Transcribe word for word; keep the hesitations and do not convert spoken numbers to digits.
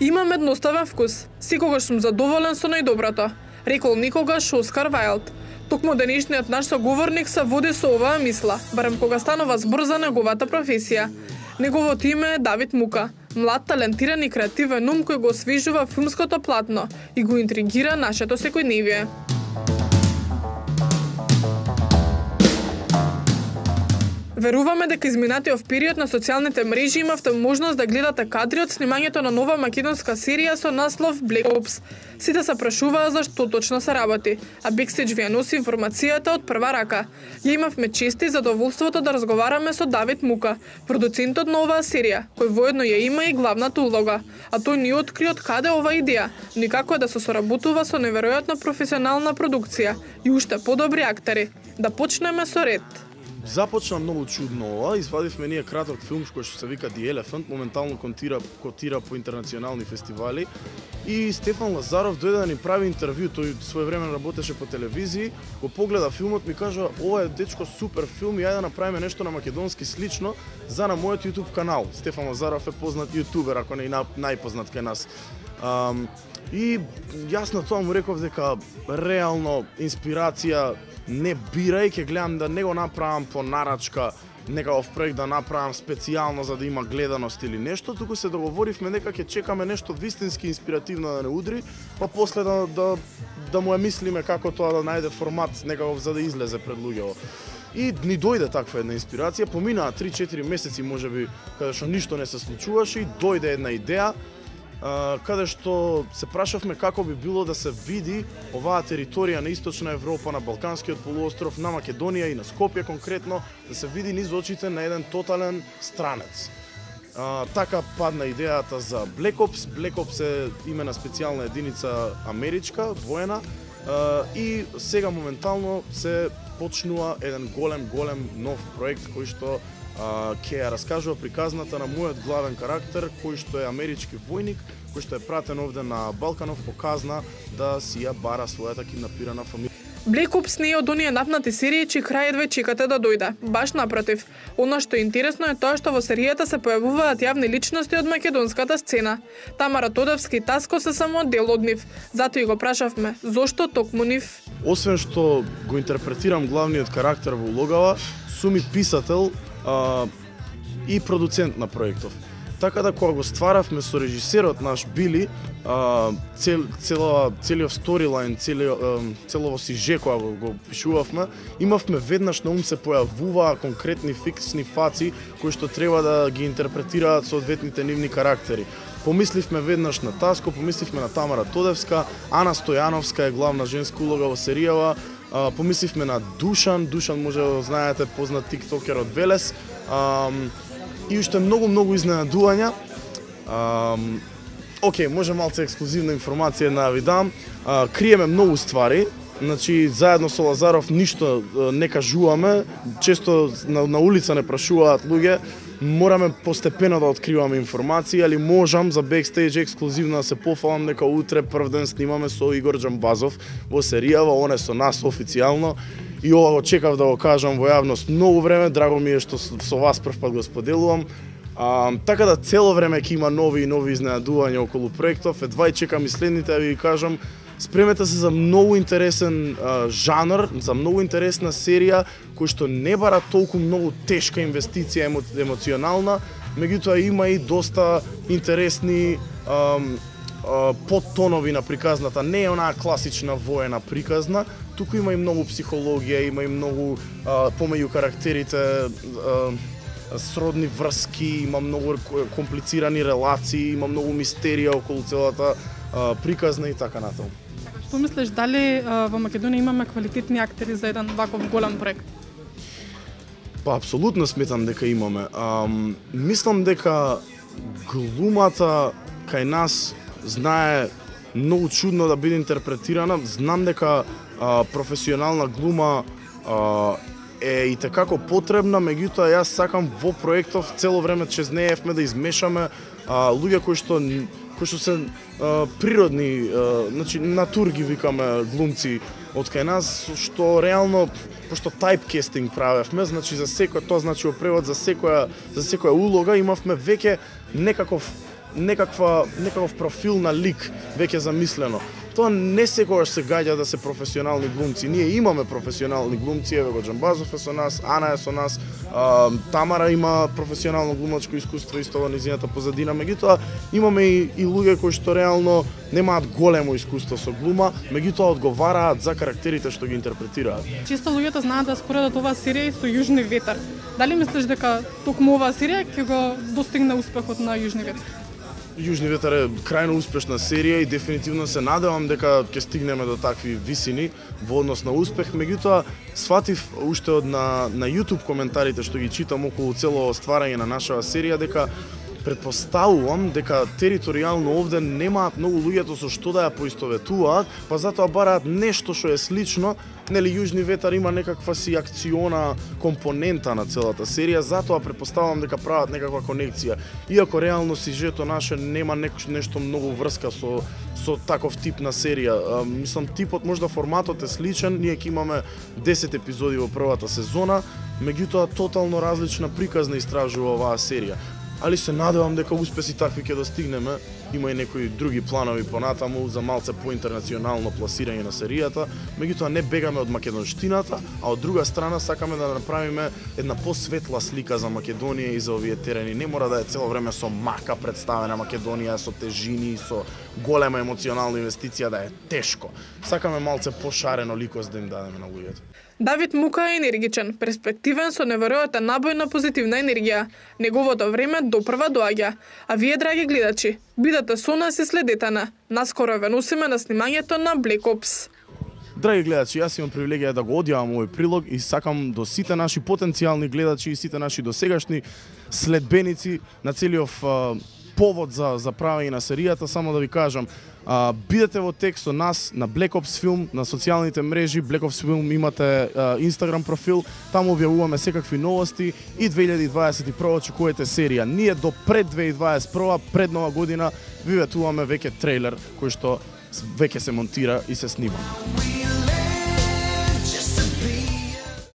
Имам едноставен вкус. Секогаш сум задоволен со најдоброто, рекол никогаш Оскар Вајлд. Токму денешниот наш соговорник се води со оваа мисла, барем кога станува збор за неговата професија. Неговото име е Давид Мука, млад, талентиран и креативен ум кој го освежува филмското платно и го интригира нашето секојдневие. Веруваме дека изминатиот период на социјалните мрежи имавте можност да гледате кадри од снимањето на нова македонска серија со наслов Black Ops. Сите се прашуваа за што точно се работи, а Backstage ви ја носи информацијата од прва рака. Ја имавме чест и задоволството да разговараме со Давид Мука, продуцентот на оваа серија, кој воедно ја има и главната улога. А тој ни откри од каде оваа идеја, никако е да се соработува со неверојатна професионална продукција и уште подобри актери. Да почнеме со ред. Започна многу чудно ова, извадивме ние краток филм кој што се вика The Elephant, моментално котира, котира по интернационални фестивали и Стефан Лазаров дојде да ни прави интервју, тој своевремено работеше по телевизии, го погледа филмот, ми кажа ова е дечко супер филм и ајде да направиме нешто на македонски слично за на мојот YouTube канал. Стефан Лазаров е познат јутубер, ако не и најпознат кај нас. Um, и јас на тоа му реков дека реално инспирација не бирај, ќе гледам да не го направам по нарачка некаков проект да направам специјално за да има гледаност или нешто, туку се договоривме дека ќе чекаме нешто вистински инспиративно да не удри, па после да, да, да му ја мислиме како тоа да најде формат некаков за да излезе пред луѓето. И ни дојде таква една инспирација, поминаа три-четири месеци можеби каде што ништо не се случуваше и дојде една идеја, каде што се прашавме како би било да се види оваа територија на Источна Европа, на Балканскиот полуостров, на Македонија и на Скопје конкретно, да се види низ очите на еден тотален странец. А, така падна идејата за Black Ops. Black Ops е име на специјална единица америчка, воена, а, и сега моментално се почнува еден голем, голем нов проект кој што ќе ја раскажува приказната на мојот главен карактер, кој што е амерички војник, кој што е пратен овде на Балканов по казна да си ја бара својата киднапирана фамилија. Black Ops не е од оние напнати серии чии крај едве чекате да дојде. Баш напротив, она што е интересно е тоа што во серијата се појавуваат јавни личности од македонската сцена. Тамара Тодевски и Таско се само дел од нив, затоа и го прашавме зошто токму нив. Освен што го интерпретирам главниот карактер во улогава, сум и писател Uh, и продуцент на проектов. Така да кога го стваравме со режисерот наш Били, uh, цел, цела, целиот сторилайн, целиот, uh, целово сиже кога го, го пишувавме, имавме веднаш на ум се појавуваа конкретни фиксни фаци кои што треба да ги интерпретираат соодветните нивни карактери. Помисливме веднаш на Таско, помисливме на Тамара Тодевска, Ана Стојановска е главна женска улога во серијава, Uh, помисливме на Душан, Душан може да знаете, познат тиктокер од Велес, um, и уште многу многу изненадувања. Um, Океј, може малце ексклузивна информација да ви дам. Uh, криеме многу ствари, значи заедно со Лазаров ништо uh, не кажуваме, често на, на улица не прашуваат луѓе. Мораме постепено да откриваме информации, али можам за Backstage ексклузивно да се пофалам дека утре прв ден снимаме со Игор Џамбазов во серијава, он е со нас официјално и ова го чекав да го кажам во јавност многу време, драго ми е што со вас прв пат го споделувам. А, така да цело време ќе има нови и нови изненадувања околу проектов, едва и чекам и следните да ви кажам. Спремете се за многу интересен а, жанр, за многу интересна серија, кој што не бара толку многу тешка инвестиција емо, емоционална, меѓутоа има и доста интересни а, а, подтонови на приказната. Не е онаа класична воена приказна, туку има и многу психологија, има и многу а, помеѓу карактерите а, сродни врски, има многу комплицирани релации, има многу мистерија околу целата а, приказна и така натаму. Што мислиш, дали а, во Македонија имаме квалитетни актери за еден ваков голем проект? Па, апсолутно сметам дека имаме. А, мислам дека глумата кај нас знае многу чудно да биде интерпретирана. Знам дека а, професионална глума а, е и tekako потребна, меѓутоа јас сакам во проектов цело време чезнеевме да измешаме а, луѓе кои што кои што се а, природни, а, значи натур ги викаме глумци од кај нас, што реално пошто тайпкестинг правевме, значи за секој, тоа значи во превод за секоја за секоја улога имавме веќе некаков некаква некаков профил на лик веќе замислено. Тоа не секогаш се гаѓа да се професионални глумци. Ние имаме професионални глумци, еве го Џамбазов е со нас, Ана е со нас, а, Тамара има професионално глумачко искуство исто во низината позадина, меѓутоа имаме и, и луѓе кои што реално немаат големо искуство со глума, меѓутоа одговараат за карактерите што ги интерпретираат. Често луѓето знаат да споредат оваа серија со Јужни ветар. Дали мислиш дека токму оваа серија ќе го достигне успехот на Јужни ветар? Јужни ветар е крајно успешна серија и дефинитивно се надевам дека ќе стигнеме до такви висини во однос на успех, меѓутоа сватив уште од на, на YouTube коментарите што ги читам околу цело стварање на нашава серија дека претпоставувам дека територијално овде немаат многу луѓето со што да ја поистоветуваат, па затоа бараат нешто што е слично. Нели Јужни ветар има некаква си акциона компонента на целата серија, затоа претпоставувам дека прават некаква конекција. Иако реално сюжето наше нема нешто многу врска со со таков тип на серија. А, мислам типот, можда форматот е сличен, ние ќе имаме десет епизоди во првата сезона, меѓутоа тотално различна приказна истражува оваа серија. Али се надевам дека успеси такви ќе достигнеме. Има и некои други планови понатаму за малце поинтернационално пласирање на серијата, меѓутоа не бегаме од македонштината, а од друга страна сакаме да направиме една посветла слика за Македонија и за овие терени. Не мора да е цело време со мака представена Македонија, со тежини, со голема емоционална инвестиција, да е тешко. Сакаме малце пошарено ликост да им дадеме на луѓето. Давид Мука е енергичен, перспективен со неверојатен набој на позитивна енергија. Неговото време допрва доаѓа. А вие, драги гледачи, бидете со нас и следете на. Наскоро ве носиме на снимањето на Black Ops. Драги гледачи, јас имам привилегија да го одјавам овој прилог и сакам до сите наши потенцијални гледачи и сите наши досегашни следбеници на целиот повод за за правење на серијата, само да ви кажам, а, бидете во текст со нас на Black Ops Film, на социјалните мрежи. Black Ops Film имате а, Instagram профил, таму објавуваме секакви новости и две илјади дваесет и прва очекувате серија. Ние до пред две илјади дваесет и прва, пред нова година, ви ветуваме веќе трейлер кој што веќе се монтира и се снима.